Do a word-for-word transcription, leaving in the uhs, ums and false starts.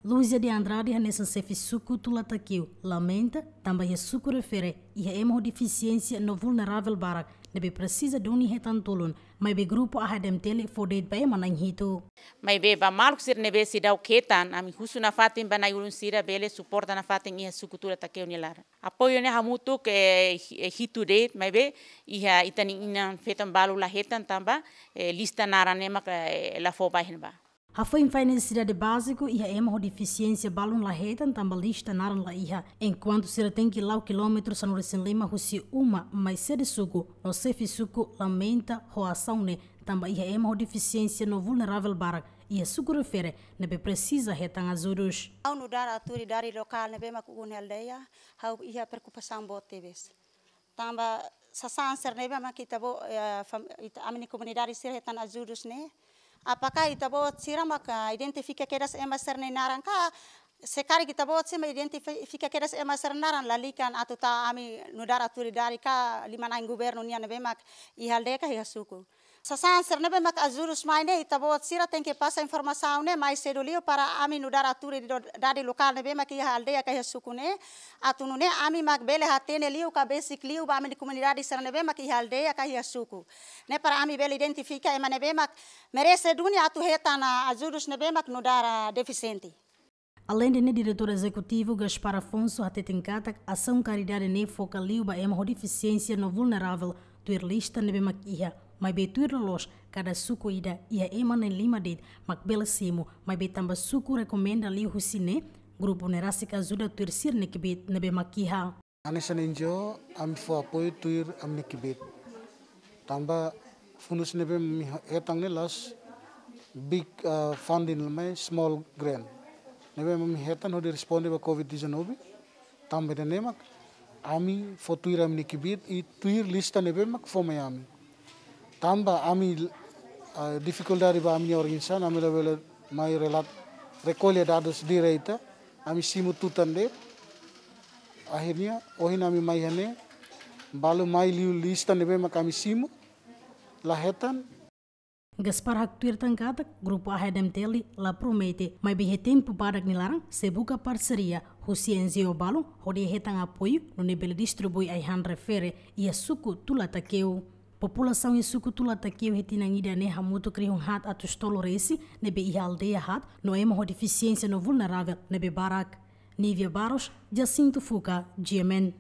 Luzia de Andrade hanesan xefe suku Tula Takeu lamenta tanba iha suku refere iha ema ho defisiénsia no vulneravel barak ne'ebé presiza duni hetan tulun, maibé grupu A H D M T L fó de'it ba ema na'in hitu. Maibé ba maluk sira ne'ebé seidauk hetan, ami husu nafatin ba na'i-ulun sira bele suporta nafatin iha suku Tula Takeu nia laran. Apoiu ne'e hamutuk, eh, hi-, eh, hitu de'it, maibé iha ita-nia inan-feton balu la hetan tanba, eh, lista naran ne'e mak, eh, la fó ba iha ne'ebá. Hafoin fó nesesidade báziku iha ema ho defisiénsia balun la hetan tanba lista naran la iha. Enkuantu sira tenke la'o kilómetru sanulu-resin-lima husi uma mai sede suku, no xefe suku lamenta ho asaun ne'e tanba iha ema ho defisiénsia no vulneravel barak iha suku refere ne'ebé presiza hetan ajudus. Ha'u nu'udar autoridade lokál ne'ebé mak ukun aldeia, ha'u iha preokupasaun boot tebes. Tanba sasán sira ne'ebé mak ita-boot, eh, fam-, ita, ami-nia komunidade sira hetan ajudus ne'e. Apakah ita-boot sira mak, ah, identifika kedas ema sira-nia naran ka? Se karik ita-boot sira mak identifika kedas ema sira-nia naran, lalika atu tau ami nu'udar autoridade ka liman-ain governu nian ne'ebé mak iha aldeia ka iha suku. Sasán sira ne'ebé mak ajudus mai ne'e, ita-boot sira tenke pasa informasaun ne'e mai sedu liu para ami nu'udar autoridade lokál ne'ebé mak iha aldeia ka iha suku ne'e. Atu nune'e ami mak bele hatene liu ka besik liu ba ami-nia komunidade sira ne'ebé mak iha aldeia ka iha suku ne'e para ami bele identifika ema ne'ebé mak merese duni atu hetan, ah, ajudus ne'ebé mak nu'udar, ah, defisiente. Aleinde ne'e, Diretór Ezekutivu Gaspar Afonso hateten katak asaun karidade ne'e foka liu ba ema ho defisiénsia no vulneravel tuir lista ne'ebé mak iha, maibé tuir loloos kada suku ida iha ema na'in-lima de'it mak bele simu, maibé tanba suku rekomenda liu husi ne'e, grupu ne'e rasik ajuda tuir sira-nia kbiit ne'ebé mak iha. Hanesan N G O, ami fó apoiu tuir ami-nia kbiit. Tanba fundus ne'ebé ami hetan ne'e la'ós big, ah, funding, maibé small grant. Ne'ebé ami hetan hodi responde ba covid dezanove. Tanba ida-ne'e mak ami fó tuir ami-nia kbiit i tuir lista ne'ebé mak fó mai ami. Tanba ami, ah, difikuldade ba ami-nia organizasaun, ami labele mai relat-, rekolla dadus direta, ami simu tutan de'it. Akhirnya, ohin ami mai iha ne'e, balu mai liu lista ne'ebé mak ami simu, la hetan. Gaspar haktuir tan katak grupu A H D M T L la promete, maibé iha tempu badak nia laran sei buka parseria husi N G O balun hodi hetan apoiu nune'e bele distribui ai-han refere iha suku Tula Takeu. Populasaun iha suku Tula Takeu iha tinan ida-ne'e hamutuk rihun haat atus tolu resin ne'ebé iha aldeia haat no ema ho defisiénsia no vulneravel ne'ebé barak. Nívia Barros, Jacinto Fuca, G M N.